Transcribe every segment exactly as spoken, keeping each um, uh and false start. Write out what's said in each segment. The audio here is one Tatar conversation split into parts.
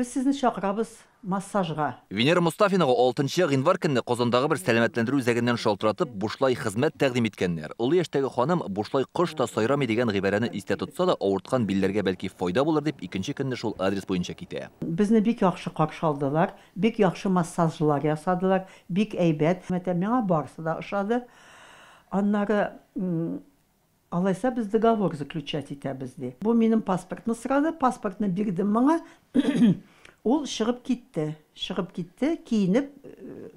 Без сезне чакырабыз массажга. Венера Мустафинага алтынчы гыйнвар көнне Казандагы бер сәламәтләндерү үзәгеннән шалтыратып, бушлай хезмәт тәкъдим иткәннәр. Олы яшьтәге ханым бушлай кош та сайрамый дигән гыйбарәне истә тотса да, авырткан билләргә бәлки файда булыр дип, икенче көнне шул адрес буенча китә. Безне бик яхшы каршы алдылар, бик яхшы массажлар ясадылар, бик әйбәт. Мәтә миңа барысы да ошады. Аннары алайса без договор заключать итәбез ди. Бу минем паспортны сорады, паспортны бирдем моңа. Ул чыгып китте. Чыгып китте, киенеп,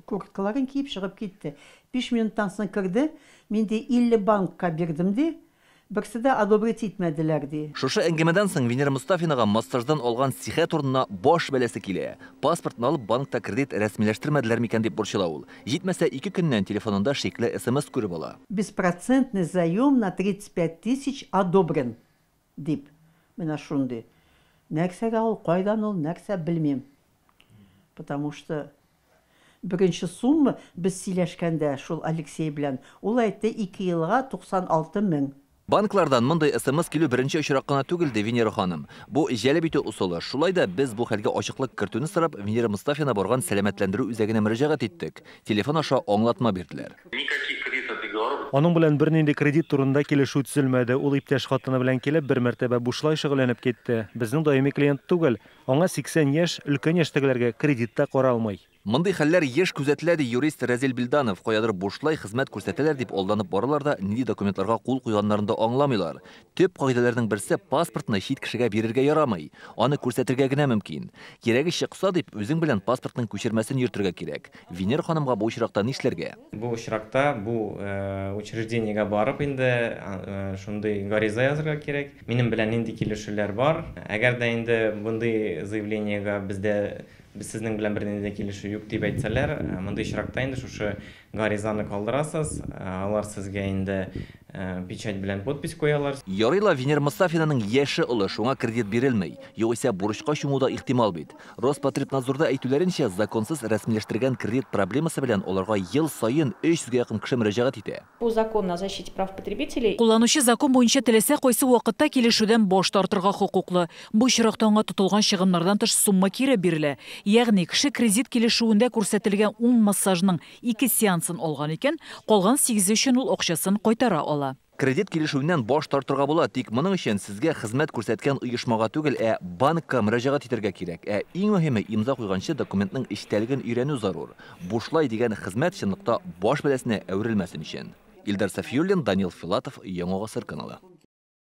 курткаларын киеп чыгып китте. Биш минуттан соң керде. Мин ди илле банкка бирдем ди. Берсе дә одобрить итмәделәр ди. Шушы әңгәмәдән соң Венера Мустафинага массаждан алган сихәт урынына баш бәласе килә. Паспортны алып банкта кредит рәсмиләштермәделәр микән дип борчыла ул. Җитмәсә ике көннән телефонында шикле эс эм эс күреп ала. Беспроцентный заем на тридцать пять тысяч одобрен дип. Менә шундый. Нәрсәгә ул, кайдан ул, нәрсә белмим. Потому что беренче сумма без сөйләшкәндә шул Алексей белән, ул әйтте ике елга туксан алты мең. Банклардан мондый эс эм эс килү беренче очрак кына түгел, ди Венера ханым. Бу җәлеп итү ысулы. Шулай да без бу хәлгә ачыклык кертүне сорап, Венера Мустафина барган сәламәтләндерү үзәгенә мөрәҗәгать иттек. Телефон аша аңлатма бирделәр. Никаких кредитных договоров. Аның белән бернинди кредит турында килешү төзелмәде. Ул иптәш хатыны белән килеп, бер мәртәбә бушлай шөгыльләнеп китте. Безнең даими клиент түгел. Аңа сиксән яшь, өлкән яшьтәгеләргә кредит та каралмый. Мондый хәлләр еш күзәтелә, ди юрист Разил Билданов. Каядыр бушлай хезмәт күрсәтәләр дип алданып баралар да, нинди документларга кул куйганнарын да аңламыйлар. Төп кагыйдәләрнең берсе: паспортны чит кешегә бирергә ярамый. Аны күрсәтергә генә мөмкин. Кирәге чыкса дип, үзең белән паспортның күчермәсен йөртергә кирәк. Венера ханымга бу очракта нишләргә? Бу очракта бу, э, учреждениегә барып инде, э, шундый гариза язырга кирәк. Минем белән нинди килешүләр бар? Әгәр дә инде мондый заявлениегә бездә без сезнең белән бернинди дә килешү юк дип әйтсәләр, э, мондый очракта инде шушы гаризаны калдырасыз, э, алар сезгә инде, э, печать белән подпись куялар. Ярый ла Венера Мустафинаның яше олы, шуңа кредит бирелми. Югыйсә бурычка чуму да ихтимал бит. Роспотребнадзорда әйтүләренчә, законсыз рәсмиләштергән кредит проблемасы белән аларга ел саен өч йөзгә якын кеше мөрәҗәгать итә. По закону о защите прав потребителей Кулланучы закон буенча теләсә кайсы вакытта килешүдән баш тартырга хокуклы. Бу очракта аңа тотылган чыгымнардан тыш сумма кире бирелә. Ягъни кеше кредит килешүендә күрсәтелгән ун массажның ике сеансын алган икән, калган сигезе өчен ул акчасын кайтара ала. Кредит килешүеннән баш тартырга була, тик моның өчен сезгә хезмәт күрсәткән оешмага түгел, ә банкка мөрәҗәгать итәргә кирәк. Ә иң мөһиме, имза куйганчы документның эчтәлеген өйрәнү зарур. Бушлай дигән хезмәт чынлыкта баш бәласенә әверелмәсен өчен. Илдар Сафиуллин, Данил Филатов, Яңа Гасыр каналы.